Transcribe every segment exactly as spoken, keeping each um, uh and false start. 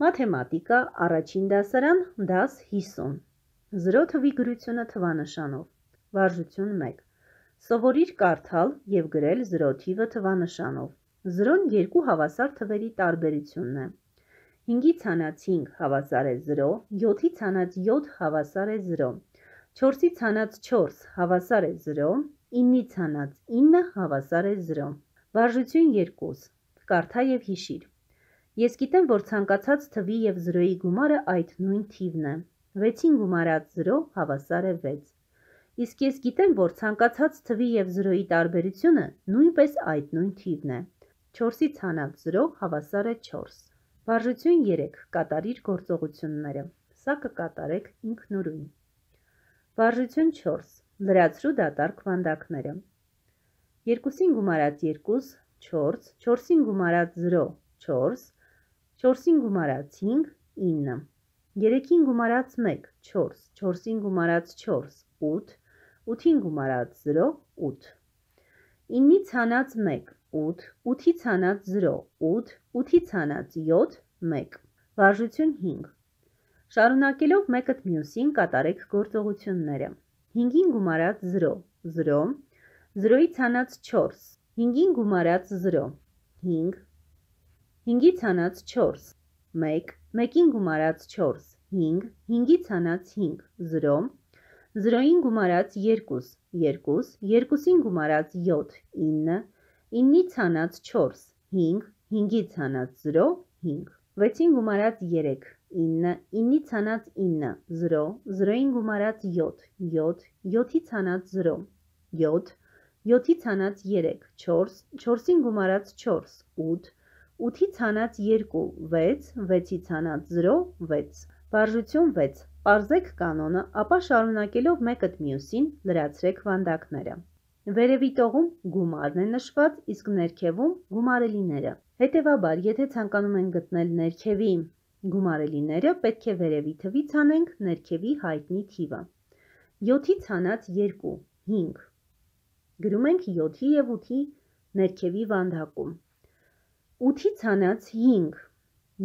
Մաթեմատիկա, առաջին դասարան, դաս հիսուն։ Զրո թվի գրությունը թվանշանով։ Վարժություն մեկ։ Սովորիր կարդալ և գրել զրո թիվը թվանշանով։ Զրոն երկու հավասար թվերի տարբերությունն է։ հինգից հանած հինգ հավասար է զրո, յոթից հանած յոթ հավասար է զրո, չորսից հանած չորս հավասար է զրո, իննից հանած ինը հավասար է զրո։ Վարժություն երկու. Կարդա և հիշիր։ Ես գիտեմ, որ ցանկացած թվի և զրոյի գումարը այդ նույն թիվն է։ վեցին գումարած զրո հավասար է վեց։ Իսկ ես գիտեմ, որ ցանկացած թվի և զրոյի տարբերությունը նույնպես այդ նույն թիվն է։ չորսից հանած զրո հավասար է չորս։ Վարժություն երեք. Կատարիր գործողությունները։ Սա կկատարեք ինքնուրույն։ Վարժություն չորս. Լրացրու դատարկ վանդակները։ երկուսին գումարած երկու, չորս, չորսին գումարած զրո, չորս, չորսին գումարած հինգ, ինը, երեքին գումարած մեկ, չորս, չորսին գումարած չորս, ութ, ութին գումարած զրո, ութ, իննից հանած մեկ, ութ, ութից հանած զրո, ութ, ութից հանած յոթ, մեկ։ Վարժություն հինգ. Շարունակելով մեկըդ մյուսին կատարեք գործողությունները։ հինգին գումարած զրո, զրո, զրոյից հանած չորս, հինգին գումարած զրո, հինգ, հինգից հանած չորս, մեկ, մեկին գումարած չորս, հինգ, հինգից հանած հինգ, զրո, զրոյին գումարած երկու, երկու, երկուսին գումարած յոթ, ինը, իննից հանած չորս, հինգ, հինգից հանած զրո, հինգ, վեցին գումարած երեք, ինը, իննից հանած ինը, զրո, զրոյին գումարած յոթ, յոթ, յոթից հանած զրո, յոթ, յոթից հանած երեք, չորս, չորսին գումարած չորս, ութ, ութից հանած երկու, վեց, վեցից հանած զրո, վեց։ Վարժություն վեց. Պարզեք կանոնը, ապա շարունակելով մեկըդ մյուսին լրացրեք վանդակները։ Վերևի տողում գումարն է նշված, իսկ ներքևում գումարելիները։ Հետևաբար, եթե ցանկանում ենք գտնել ներքևի գումարելիները, պետք է վերևի թվից հանենք ներքևի հայտնի թիվը։ յոթից հանած երկու, հինգ։ Գրում ենք յոթի և ութի ներքևի վանդակում։ ութից հանած հինգ,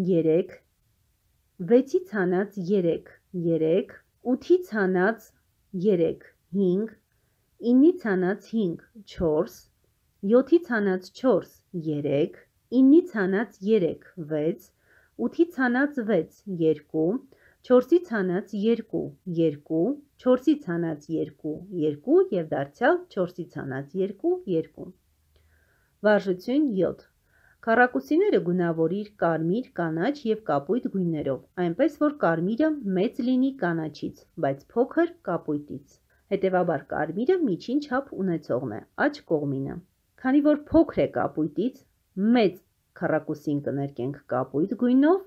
երեք, վեցից հանած երեք, երեք, ութից հանած երեք, հինգ, իննից հանած հինգ, չորս, յոթից հանած չորս, երեք, իննից հանած երեք, վեց, ութից հանած վեց, երկու, չորսից հանած երկու, երկու, չորսից հանած երկու, երկու և դարձյալ չորսից հանած երկու, երկու։ Վարժություն յոթ. Քառակուսիները գունավորիր կարմիր, կանաչ և կապույտ գույներով, այնպես որ կարմիրը մեծ լինի կանաչից, բայց փոքր կապույտից։ Հետևաբար կարմիրը միջին չափ ունեցողն է, աջ կողմինը։ Քանի որ փոքր է կապույտից, մեծ քառակուսին կներկենք կապույտ գույնով,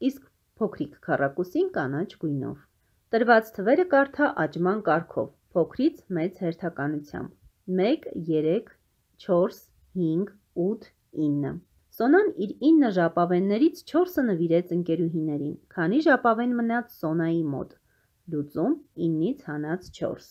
իսկ փոքրիկ քառակուսին կանաչ գույնով։ Տրված թվերը կարդա աճման կարգով, փոքրից մեծ հերթականությամբ՝ մեկ, երեք, չորս, հինգ, ութ, ինը։ Սոնան իր ինը ժապավեններից չորսը նվիրեց ընկերուհիներին, քանի ժապավեն մնաց Սոնայի մոտ։ Լուծում իննից հանած չորս։